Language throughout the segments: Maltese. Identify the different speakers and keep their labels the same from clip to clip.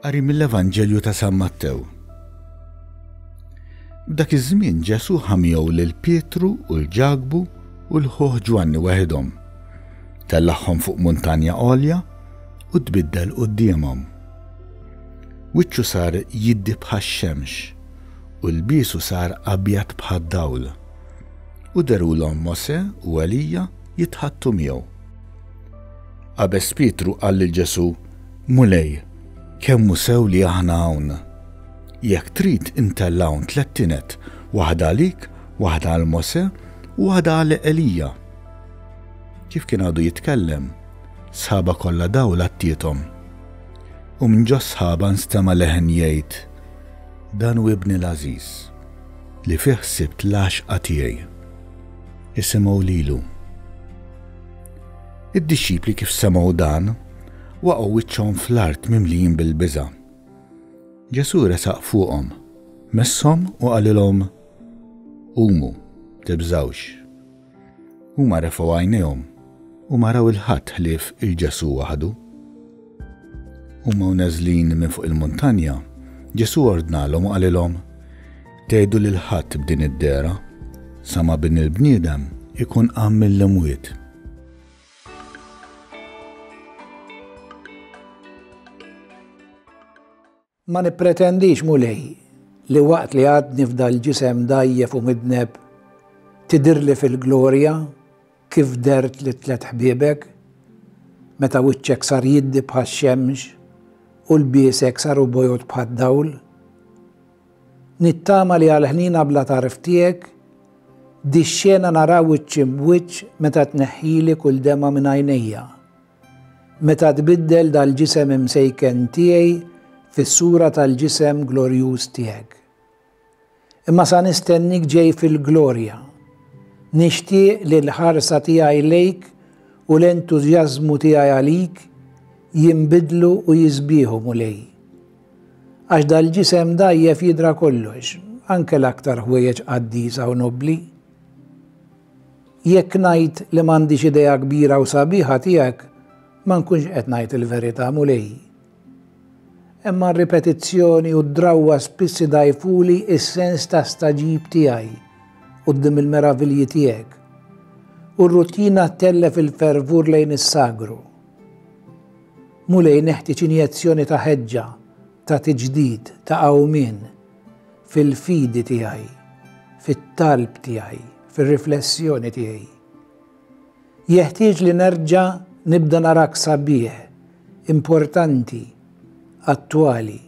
Speaker 1: Qari mill-Evanġelju ta' San Mattew. F'dak iż-żmien Ġesù ħa miegħu lil Pietru u 'l Ġakbu u 'l ħuh Ġwanni waħidhom. Tellagħhom fuq muntanja għolja u tbiddel quddiemhom. Wiċċu sar jiddi bħax-xemx u lbiesu sar abjad bħad-dawl. U dherulhom Mosè u Elija jitħaddtu miegħu. Qabeż Pietru qal lil Ġesù, Mulej, kemm hu sew li aħna hawn! Jekk trid intella' hawn tlett tined, waħda għalik, waħda għal Mosè u waħda għal Elija. Kif kien għadu jitkellem, sħaba kollha dawl għattiethom. U minn ġos-sħaba nstema' leħen jgħid, Dan hu Ibni l-għażiż, li fih sibt l-għaxqa tiegħi. Isimgħu lilu. Id-dixxipli kif semgħu dan, waqgħu wiċċhom fl-art mimlijin bil-biża'. Ġesù resaq fuqhom, messhom u qalilhom, Qumu, tibżgħux. Huma refgħu għajnejhom u ma raw 'il ħadd ħlief 'il Ġesù waħdu. Huma u neżlin minn fuq il-muntanja, Ġesù ordnalhom u qalilhom, Tgħidu lil ħadd b'din id-dehra, sa ma Bin il-bniedem ikun qam mill-imwiet.
Speaker 2: Ma nippretendix, Mulej, li waqt li għadni f'dal-ġisem dgħajjef u midneb, tidhirli fil-glorja kif dhert lit-tlett ħbiebek, meta wiċċek sar jiddi bħax-xemx u lbiesek saru bojod bħad-dawl. Nittama li għall-ħniena bla tarf tiegħek, dix-xena nara wiċċ imb'wiċċ meta tneħħili kull demgħa minn għajnejja. Meta tbiddel dal-ġisem imsejken tiegħi fis-sura tal-ġisem glorjuż tiegħek. Imma sa nistennik ġej fil-glorja. Nixtieq li l-ħarsa tiegħi lejk u l-entużjażmu tiegħi għalik jinbidlu u jisbieħu, Mulej. Għax dal-ġisem dgħajjef jidra kollox, anke l-aktar ħwejjeġ qaddisa u nobbli. Jekk ngħid li m'għandix idea kbira u sabiħa tiegħek, ma nkunx qed ngħid il-verità, Mulej. Imma r-ripetizzjoni u d-drawwa spiss idgħajfuli s-sens ta' stagħġib tiegħi quddiem il-meravilji tiegħek, u r-rutina ttellef il-fervur lejn is-sagru. Mulej, neħtieġ injezzjoni ta' ħeġġa, ta' tiġdid, ta' qawmien. fil-fidi tiegħi, fit-talb tiegħi, fir-riflessjoni tiegħi. Jeħtieġ li nerġa' nibda narak sabiħ, importanti, attwali,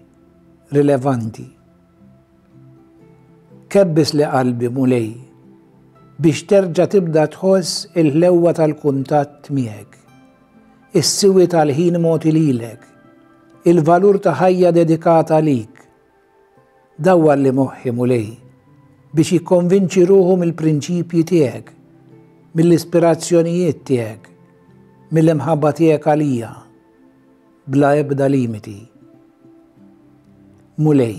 Speaker 2: rilevanti. Kebbisli qalbi, Mulej, biex terġa' tibda tħoss il-ħlewwa tal-kuntatt miegħek, is-siwi tal-ħin mogħti lilek, il-valur ta' ħajja dedikata għalik, Dawwarli moħħi, Mulej, biex jikkonvinċi ruħu mill-prinċipji tiegħek, mill-ispirazzjonijiet tiegħek, mill-imħabba tiegħek għalija, bla ebda limiti. Mulej,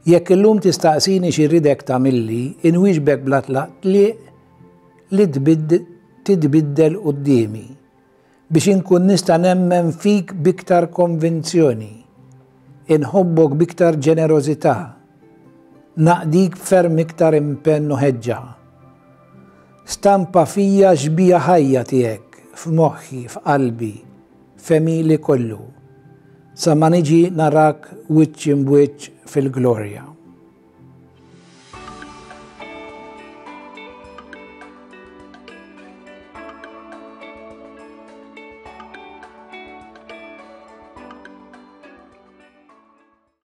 Speaker 2: jekk illum tistaqsini xi rridek tagħmilli, inwieġbek bla tlaqtliq li titbiddel quddiemi. Biex inkun nista' nemmen fik b'iktar konvinzjoni, inħobbok b'iktar ġenerożità, naqdik b'ferm iktar impenn u ħeġġa. Stampa fija xbieha ħajja tiegħek f'moħħi, f'qalbi, f'għemili kollu, sa ma niġi narak wiċċ imb'wiċċ fil-glorja.